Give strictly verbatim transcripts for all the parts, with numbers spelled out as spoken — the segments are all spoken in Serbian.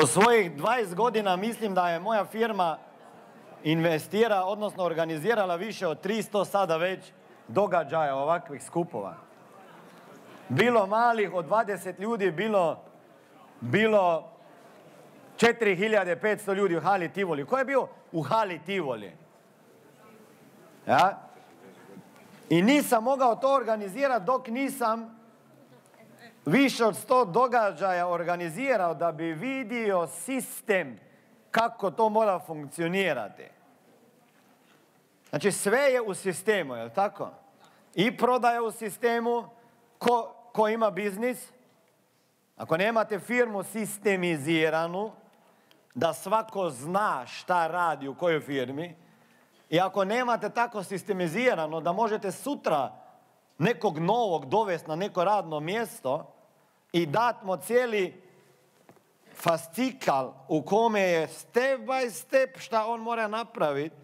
U svojih dvadeset godina mislim da je moja firma investira, odnosno organizirala više od tristo sada već događaja ovakvih skupova. Bilo malih od dvadeset ljudi, bilo, bilo četiri hiljade petsto ljudi u hali Tivoli. Ko je bio u hali Tivoli? Ja? I nisam mogao to organizirati dok nisam više od sto događaja organizirao da bi vidio sistem kako to mora funkcionirati. Znači sve je u sistemu, je li tako? I prodaja u sistemu, ko, ko ima biznis. Ako nemate firmu sistemiziranu, da svako zna šta radi u kojoj firmi, i ako nemate tako sistemizirano da možete sutra nekog novog dovesti na neko radno mjesto i dat mu cijeli fascikal u kome je step by step šta on mora napraviti,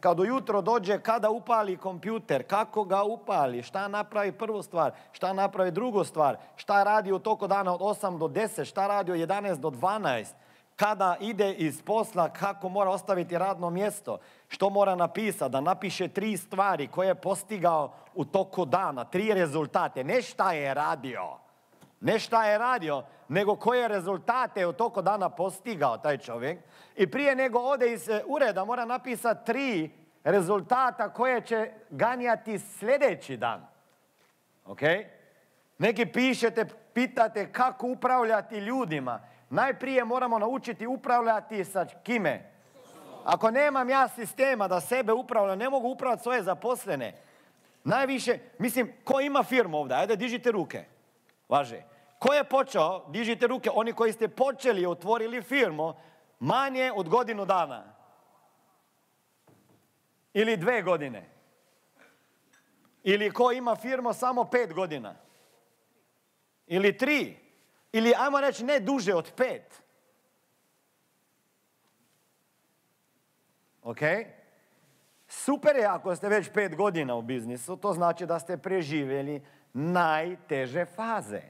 kad ujutro dođe, kada upali kompjuter, kako ga upali, šta napravi prvu stvar, šta napravi drugu stvar, šta radi u toku dana od osam do deset, šta radi od jedanaest do dvanaest, kada ide iz posla, kako mora ostaviti radno mjesto, što mora napisati, da napiše tri stvari koje je postigao u toku dana, tri rezultate, ne šta je radio, ne šta je radio, nego koje rezultate u toku dana postigao taj čovjek. I prije nego ode iz ureda mora napisati tri rezultata koje će ganjati sljedeći dan. Ok? Neki pišete, pitate kako upravljati ljudima. Najprije moramo naučiti upravljati sa kime? Ako nemam ja sistema da sebe upravljam, ne mogu upravljati svoje zaposlene. Najviše, mislim, ko ima firmu ovdje? Ajde, dižite ruke. Važe. Ko je počeo? Dižite ruke. Oni koji ste počeli i otvorili firmu manje od godinu dana. Ili dve godine. Ili ko ima firmu samo pet godina. Ili tri. Ili, ajmo reći, ne duže od pet. Ok? Super je ako ste već pet godina u biznisu, to znači da ste preživjeli najteže faze.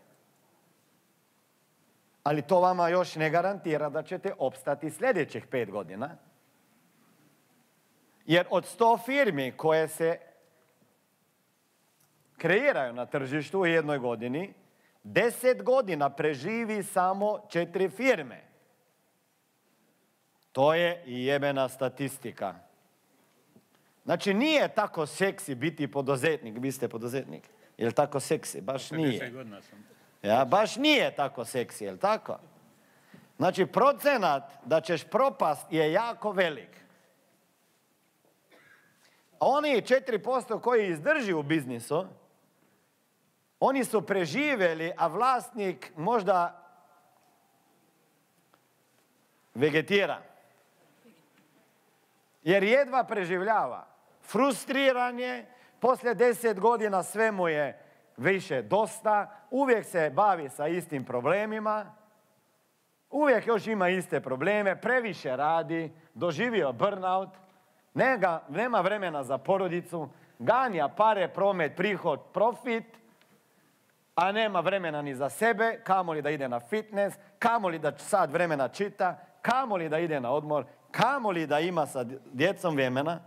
Ali to vama još ne garantira da ćete opstati sljedećih pet godina. Jer od sto firmi koje se kreiraju na tržištu u jednoj godini, deset godina preživi samo četiri firme. To je i jebena statistika. Znači, nije tako seksi biti poduzetnik. Vi ste poduzetnik. Je li tako seksi? Baš nije. Ja, baš nije tako seksi, je li tako? Znači, procenat da ćeš propast je jako velik. A oni četiri posto koji izdrži u biznisu, oni su preživjeli, a vlasnik možda vegetira. Jer jedva preživljava. Frustriran je, poslije deset godina sve mu je više dosta, uvijek se bavi sa istim problemima, uvijek još ima iste probleme, previše radi, doživio burnout, nema, nema vremena za porodicu, ganja pare, promet, prihod, profit, a nema vremena ni za sebe, kamoli da ide na fitness, kamoli da sad vremena čita, kamoli da ide na odmor, kamoli da ima sa djecom vremena.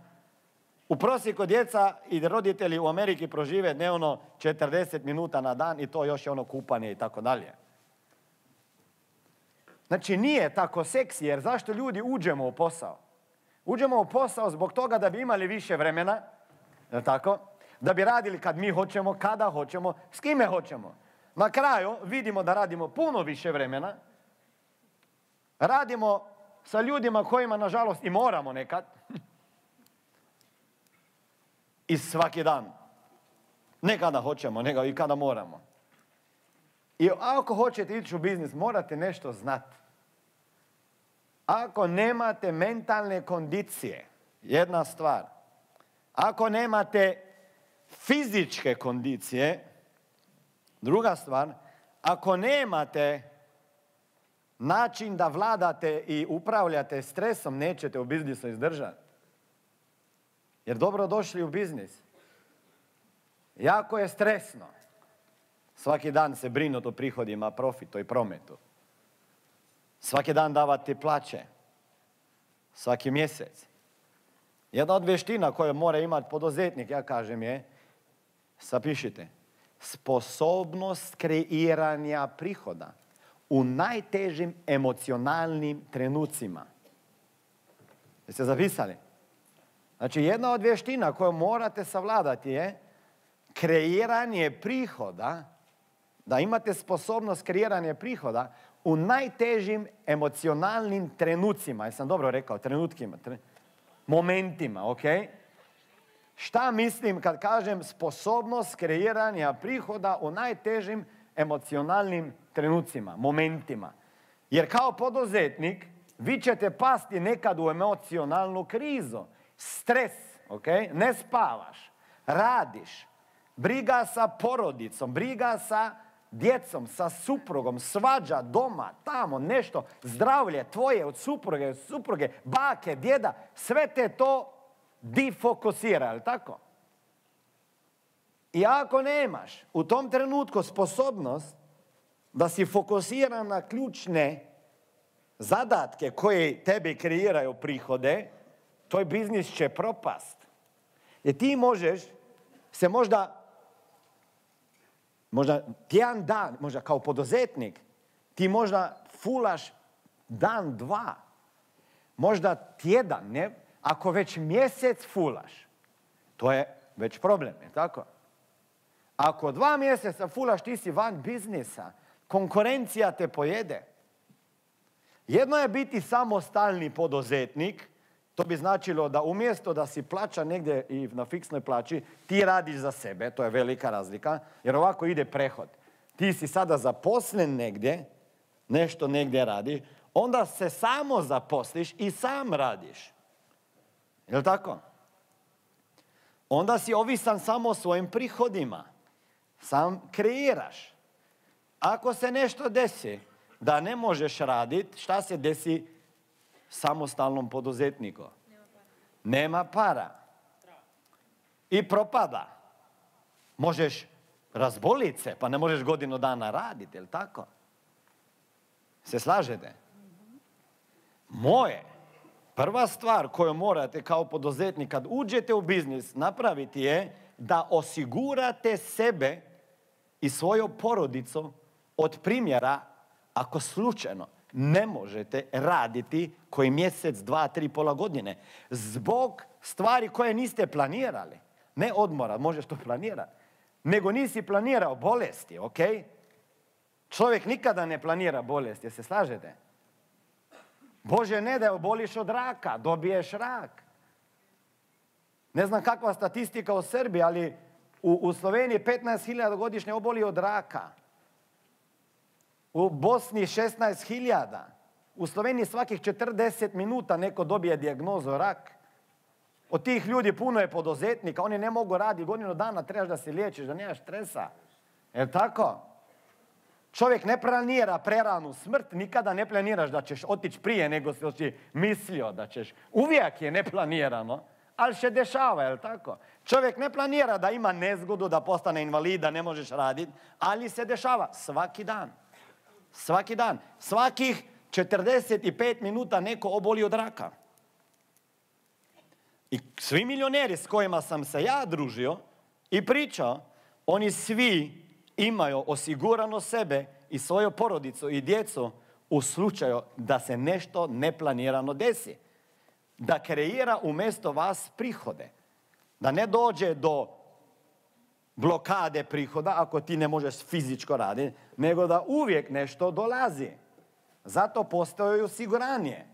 U prosjeku djeca i roditelji u Ameriki prožive dnevno četrdeset minuta na dan i to još je ono kupanje i tako dalje. Znači nije tako seksi, jer zašto ljudi uđemo u posao? Uđemo u posao zbog toga da bi imali više vremena, je tako? Da bi radili kad mi hoćemo, kada hoćemo, s kime hoćemo. Na kraju vidimo da radimo puno više vremena. Radimo sa ljudima kojima, nažalost, i moramo nekad. I svaki dan. Ne kada hoćemo, nego i kada moramo. I ako hoćete ići u biznis, morate nešto znati. Ako nemate mentalne kondicije, jedna stvar. Ako nemate fizičke kondicije, druga stvar, ako nemate način da vladate i upravljate stresom, nećete u biznisu izdržati. Jer dobro došli u biznis. Jako je stresno. Svaki dan se brinuti o prihodima, profitu i prometu. Svaki dan davati plaće. Svaki mjesec. Jedna od vještina koju mora imati poduzetnik, ja kažem je, zapišite, sposobnost kreiranja prihoda u najtežim emocionalnim trenucima. Jeste zapisali? Znači, jedna od vještina koju morate savladati je kreiranje prihoda, da imate sposobnost kreiranja prihoda u najtežim emocionalnim trenucima. Jesam dobro rekao? Trenutkima. Tre... Momentima, ok? Šta mislim kad kažem sposobnost kreiranja prihoda u najtežim emocionalnim trenucima, momentima? Jer kao poduzetnik vi ćete pasti nekad u emocionalnu krizu. Stres, ok? Ne spavaš, radiš, briga sa porodicom, briga sa djecom, sa suprugom, svađa doma, tamo nešto, zdravlje tvoje od supruge, od supruge, bake, djeda, sve te to difokusira, je li tako? I ako nemaš u tom trenutku sposobnost da si fokusiran na ključne zadatke koje tebi kreiraju prihode, tvoj biznis će propast. Jer ti možeš se možda Možda tjedan dan, možda kao poduzetnik, ti možda fulaš dan, dva. Možda tjedan, ne? Ako već mjesec fulaš, to je već problem, je tako? Ako dva mjeseca fulaš, ti si van biznisa. Konkurencija te pojede. Jedno je biti samostalni poduzetnik. To bi značilo da umjesto da si plaća negdje i na fiksnoj plaći, ti radiš za sebe, to je velika razlika, jer ovako ide prehod. Ti si sada zaposlen negdje, nešto negdje radiš, onda se samo zaposliš i sam radiš. Je li tako? Onda si ovisan samo o svojim prihodima. Sam kreiraš. Ako se nešto desi da ne možeš raditi, šta se desi samostalnom poduzetniku? Nema para. I propada. Možeš razboliti se, pa ne možeš godinu dana raditi, je li tako? Se slažete? Moje, prva stvar koju morate kao poduzetnik kad uđete u biznis napraviti je da osigurate sebe i svoju porodicu od primjera ako slučajno ne možete raditi koji mjesec, dva, tri, pola godine. Zbog stvari koje niste planirali. Ne odmora, možeš to planirati. Nego nisi planirao bolesti, ok? Čovjek nikada ne planira bolesti, jel se slažete? Bože ne da oboliš od raka, dobiješ rak. Ne znam kakva statistika u Srbiji, ali u, u Sloveniji petnaest hiljada godišnje oboli od raka. U Bosni šesnaest hiljada. U Sloveniji svakih četrdeset minuta neko dobije dijagnozu rak. Od tih ljudi puno je poduzetnika, oni ne mogu raditi godinu dana, trebaš da se liječiš, da nemaš stresa. Je tako? Čovjek ne planira preranu smrt, nikada ne planiraš da ćeš otići prije nego si mislio da ćeš. Uvijek je neplanirano, ali se dešava, je li tako? Čovjek ne planira da ima nezgodu, da postane invalid, da ne možeš raditi, ali se dešava svaki dan. Svaki dan. Svakih četrdeset pet minuta neko oboli od raka. I svi milioneri s kojima sam se ja družio i pričao, oni svi imaju osigurano sebe i svoju porodicu i djecu u slučaju da se nešto neplanirano desi. Da kreira umjesto vas prihode. Da ne dođe do blokade prihoda ako ti ne možeš fizičko raditi, nego da uvijek nešto dolazi. Zato postoji osiguranje.